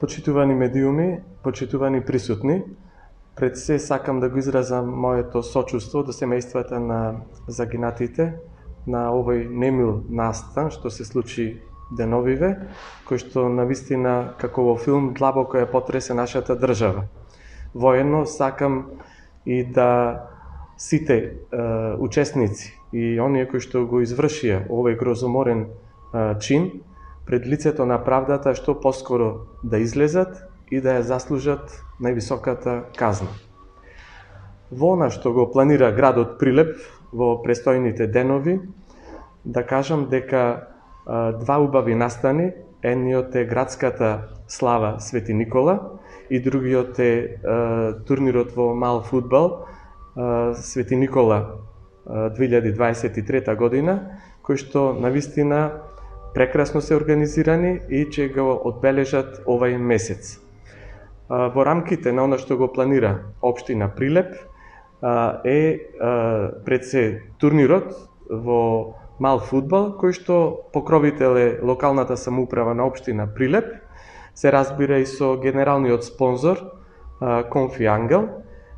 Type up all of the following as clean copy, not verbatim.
Почитувани медиуми, почитувани присутни, пред се сакам да го изразам моето сочувство до семејствата на загинатите на овој немил настан што се случи деновиве, кој што навистина како во филм длабоко ја потресе нашата држава. Воедно сакам и да сите учесници и оние кои што го извршија овој грозоморен чин пред лицето на правдата што поскоро да излезат и да ја заслужат највисоката казна. Во она што го планира градот Прилеп во престојните денови, да кажам дека два убави настани, едниот е градската слава Свети Никола и другиот е турнирот во мал фудбал Свети Никола 2023 година, кој што навистина прекрасно се организирани и ќе го одбележат овај месец. Во рамките на оно што го планира општина Прилеп е пред се турнирот во мал фудбал, кој што покровител е локалната самоуправа на општина Прилеп, се разбира и со генералниот спонзор Конфи Ангел,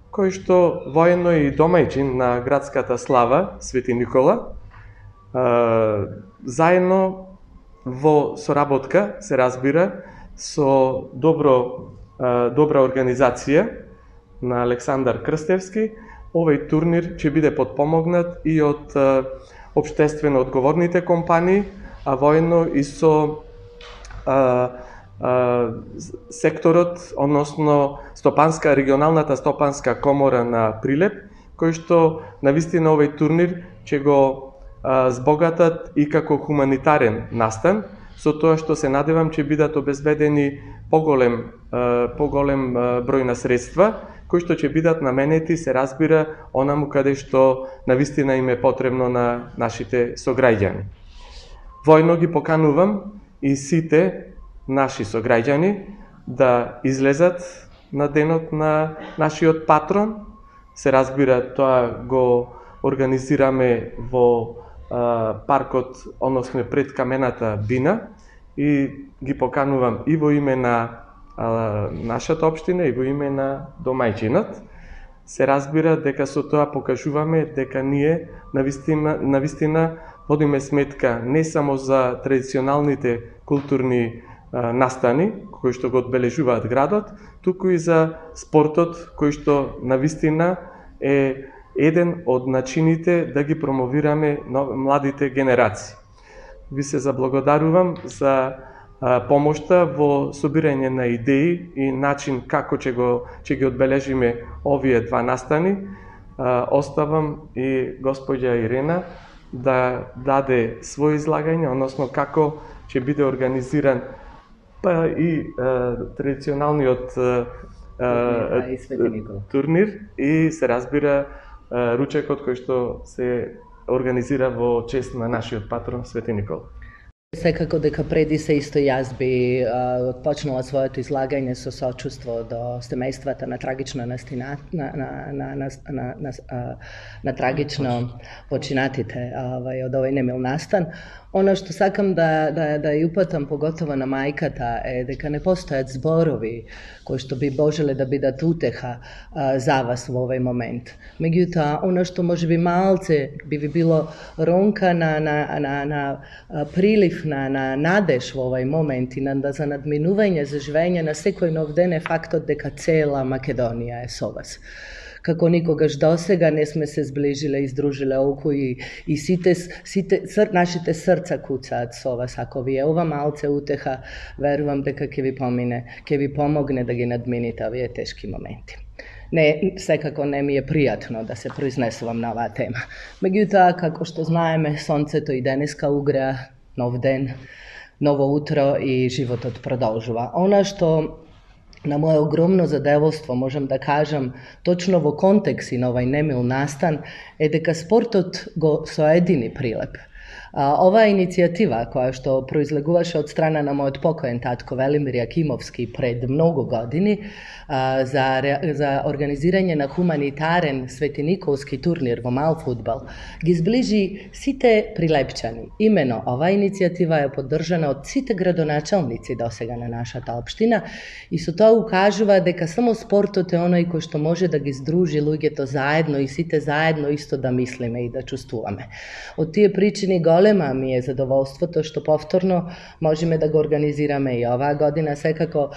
кој што воедно е и домајчин на градската слава Свети Никола, заедно во соработка, се разбира, со добра организација на Александар Крстевски, овој турнир ќе биде подпомогнат и од општествено одговорните компании, а воедно и со секторот, односно регионалната стопанска комора на Прилеп, кој што навистина овој турнир ќе го збогатат и како хуманитарен настан, со тоа што се надевам ќе бидат обезбедени поголем број на средства, кои што ќе бидат наменети, се разбира, онаму каде што навистина им е потребно на нашите сограѓани. Војно ги поканувам и сите наши сограѓани да излезат на денот на нашиот патрон. Се разбира, тоа го организираме во паркот, односно пред камената бина, и ги поканувам и во име на нашата општина и во име на домајчинот. Се разбира дека со тоа покажуваме дека ние навистина водиме сметка не само за традиционалните културни настани кои што го одбележуваат градот, туку и за спортот кој што навистина е еден од начините да ги промовираме младите генерации. Ви се заблагодарувам за помошта во собирање на идеи и начин како ќе ги одбележиме овие два настани. Оставам и господја Ирена да даде свој излагање, односно како ќе биде организиран и традиционалниот турнир и се разбира ручекот кој што се организира во чест на нашиот патрон Свети Никола. Секако дека преди се исто јас би почнала своето излагање со сочувство до семејствата на трагично на трагично починатите од овој немил настан. Оно што сакам да ја упатам поготово на мајката е дека не постојат зборови кои што би можеле да бидат утеха за вас во овој момент. Меѓутоа, оно што можеби малце би ви било ронка на прилив на надеж во овој момент и за надминување за живење на секој нов ден е фактот дека цела Македонија е со вас. Како никогаш досега не сме се зближиле и издружиле оку и сите нашите срца куцаат со вас. Ако ви е ова малце утеха, верувам дека ќе ви помогне да ги надмините овие тешки моменти. Не, секако не ми е пријатно да се произнесувам на оваа тема. Меѓутоа, како што знаеме, сонцето и денеска угреа, нов ден, ново утро и животот продолжува. Она што на моје огромно задоволство можам да кажам точно во контекст и на овај немил настан е дека спортот го соедини Прилеп. Ова иницијатива која што произлегуваше од страна на мојот покоен татко Велимир Јакимовски пред многу години за организирање на хуманитарен светиниковски турнир во мал фудбал ги зближи сите прилепчани. Имено ова иницијатива е поддржана од сите градоначалници досега на нашата општина и со тоа укажува дека само спортот е оној кој што може да ги здружи луѓето заедно и сите заедно исто да мислиме и да чувствуваме. Од тие причини голема ми е задоволството што повторно можеме да го организираме и оваа година. Секако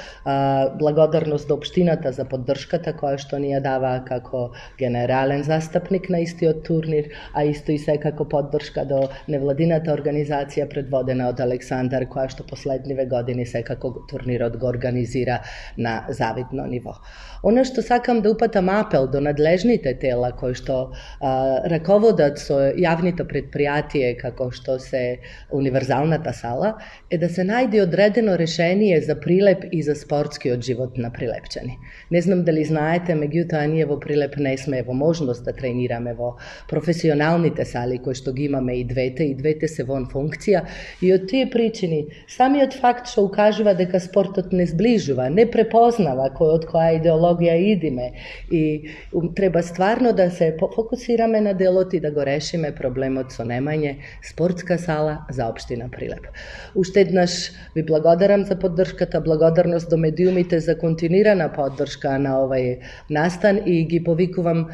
благодарност до општината за поддршката која што ни ја дава како генерален застапник на истиот турнир, а исто и секако поддршка до невладината организација предводена од Александар, која што последниве години секако турнирот го организира на завидно ниво. Она што сакам да упатам апел до надлежните тела кои што раководат со јавните предпријатие како што се универзалната сала е да се најде одредено решение за Прилеп и за спортскиот живот на прилепчани. Не знам дали знаете, меѓутоа ние во Прилеп не сме во можност да тренираме во професионалните сали кои што ги имаме и двете се вон функција и од тие причини самиот факт што укажува дека спортот не зближува, не препознава од која идеологија идиме и треба стварно да се фокусираме на делот и да го решиме проблемот со немање спортска сала за општина Прилеп. Уште еднаш ви благодарам за поддршката, благодарност до медиумите за континуирана поддршка на овај настан и ги повикувам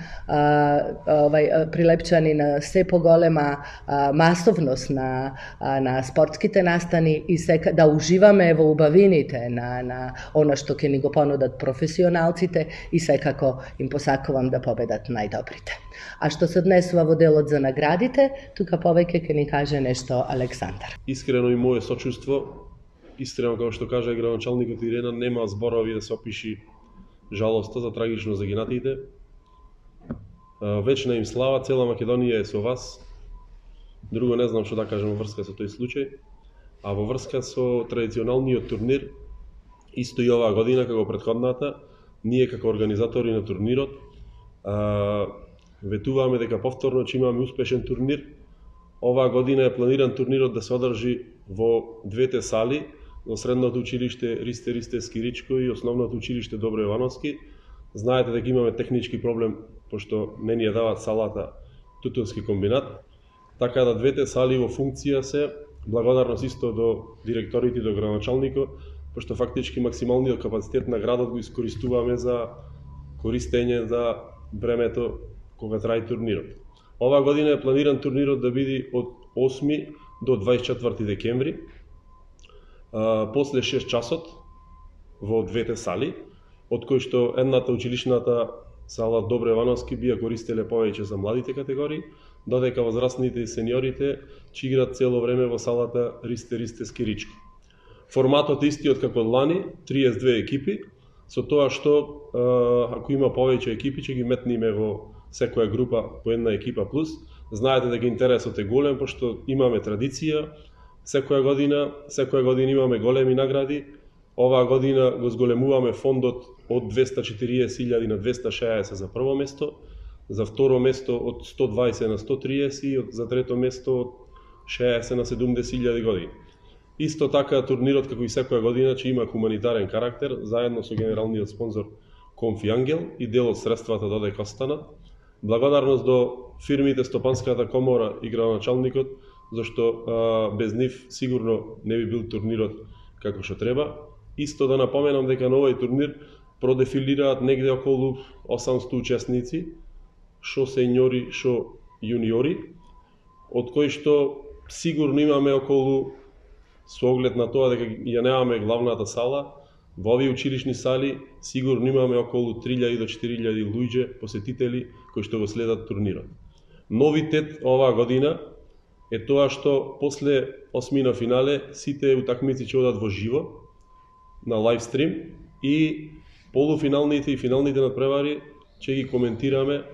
прилепчани на се поголема масовност на спортските настани и да уживаме во убавините на она што ќе ни го понудат професионалците и секако им посакувам да победат најдобрите. А што се однесува во делот за наградите, тука повеќе ќе ни каже нешто Александар. Искрено и мое сочувство, искрено како што кажа градоначалникот Ирена, нема зборови да се опиши жалоста за трагично загинатите. Вечна им слава, цела Македонија е со вас. Друго не знам што да кажам во врска со тој случај. А во врска со традиционалниот турнир, исто и оваа година како претходната, ние како организатори на турнирот ветуваме дека повторно ќе имаме успешен турнир. Оваа година е планиран турнирот да се одржи во двете сали, во средното училиште Ристе Скиричко и основното училиште Добро Јовановски. Знаете дека имаме технички проблем, пошто не ни ја дават салата Тутунски комбинат, така да двете сали во функција се. Благодарност исто до директорите и до градоначалникот, пошто фактички максималниот капацитет на градот го искористуваме за користење за времето кога трае турнирот. Оваа година е планиран турнирот да биде од 8 до 24 декември, после 6 часот во двете сали, од кои што едната училишната сала Добро Јовановски би ја користеле повеќе за младите категории, додека возрастните и сениорите ќе играат цело време во салата Ристе Скиричко. Форматот е истиот како лани, 32 екипи, со тоа што ако има повеќе екипи ќе ги метниме во секоја група по една екипа плюс. Знаете дека интересот е голем, пошто имаме традиција, секоја година имаме големи награди. Оваа година го зголемуваме фондот од 240.000 на 260 за прво место, за второ место од 120 на 130 и за трето место од 60 на 70.000 години. Исто така турнирот како и секоја година ќе има хуманитарен карактер, заедно со генералниот спонзор Конфи Ангел и дел од средствата додека останат. Благодарност до фирмите Стопанската комора и градоначалникот, зашто без нив сигурно не би бил турнирот како што треба. Исто да напоменам дека на овој турнир продефилираат негде околу 800 учесници, шо сеньори, шо јуниори, од кои што сигурно имаме околу, со оглед на тоа дека ја немаме главната сала, во овие училишни сали сигурно имаме околу 3000 до 4000 луѓе посетители кои што го следат турнирот. Новитет оваа година е тоа што после осмина финале сите утакмици ќе одат во живо на лайвстрим и полуфиналните и финалните надпревари ќе ги коментираме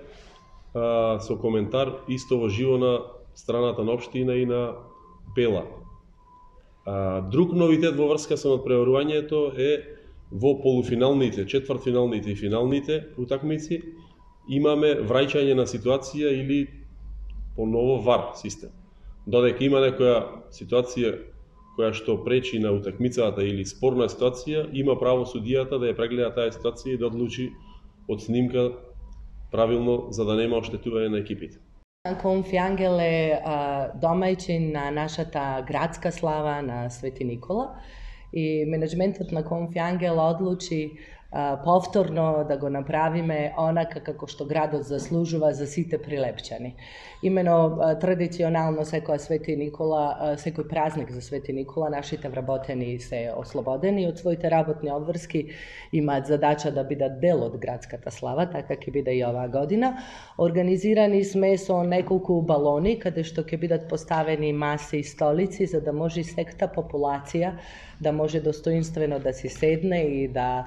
со коментар исто во живо на страната на општина и на Пела. Друг новитет во врска со надпреварувањето е во полуфиналните, четвртфиналните и финалните утакмици имаме враќање на ситуација или по ново ВАР систем. Додека има некоја ситуација која што пречи на утакмицата или спорна ситуација, има право судијата да ја прегледа таа ситуација и да одлучи од снимка правилно за да нема оштетување на екипите. Конфјангел е домајчин на нашата градска слава на Свети Никола и менеджментот на Конфјангел одлучи повторно да го направиме онака како што градот заслужува за сите прилепчани. Имено традиционално секој Свети Никола, секој празник за Свети Никола, нашите вработени се ослободени од своите работни обврски, имаат задача да бидат дел од градската слава, така ќе биде и оваа година. Организирани сме со неколку балони каде што ќе бидат поставени маси и столици за да може секта популација да може достоинствено да си седне и да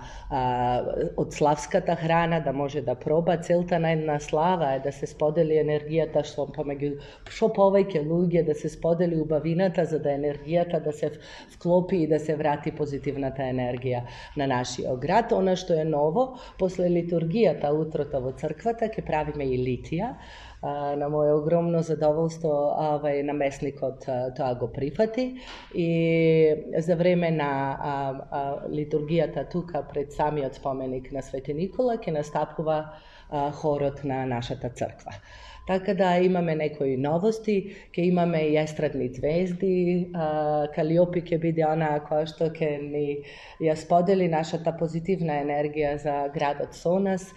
од славската храна да може да проба. Целта на една слава е да се сподели енергијата што повеќе луѓе, да се сподели убавината за да енергијата да се вклопи и да се врати позитивната енергија на нашиот град. Она што е ново, после литургијата утрото во црквата ќе правиме и литија. На моје огромно задоволство наместникот тоа го прифати и за време на литургијата тука пред самиот споменик на Свети Никола ќе настапува хорот на нашата црква. Така да имаме некои новости, ќе имаме и естрадни звезди, Калиопи ќе биде она која што ќе ни ја сподели нашата позитивна енергија за градот со нас,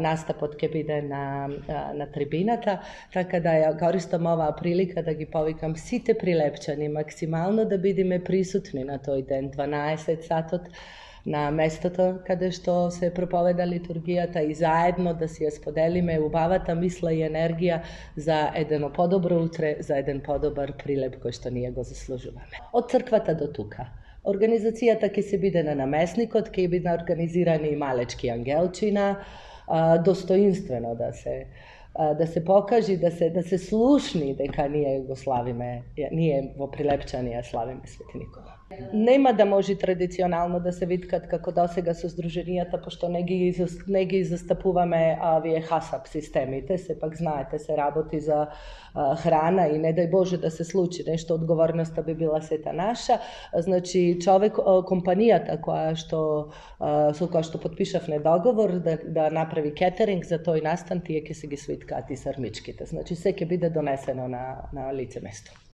настапот ќе биде на трибината, така да ја користам оваа прилика да ги повикам сите прилепчани максимално да бидеме присутни на тој ден, 12 сатот, на местото каде што се проповеда литургијата и заедно да си ја споделиме убавата мисла и енергија за едно подобро утре, за еден подобар прилеп кој што ние го заслужуваме. Од црквата до тука. Организацијата ќе се биде на наместникот, ќе биде организирани и малечки ангелчина, достоинствено да се покажи, да се слушни дека ние го славиме, ние во Прилепчани ја славиме Свети Никола. Нема да може традиционално да се виткат како досега со здруженијата, пошто не ги застапуваме овие хасап системите, сепак знаете се работи за храна и не дај Боже да се случи нешто, одговорноста би била сета наша. Значи компанијата со која што потпишавме договор да направи кетеринг за тој настан, тие ќе се ги свиткаат и сармичките. Значи се ќе биде донесено на лице место.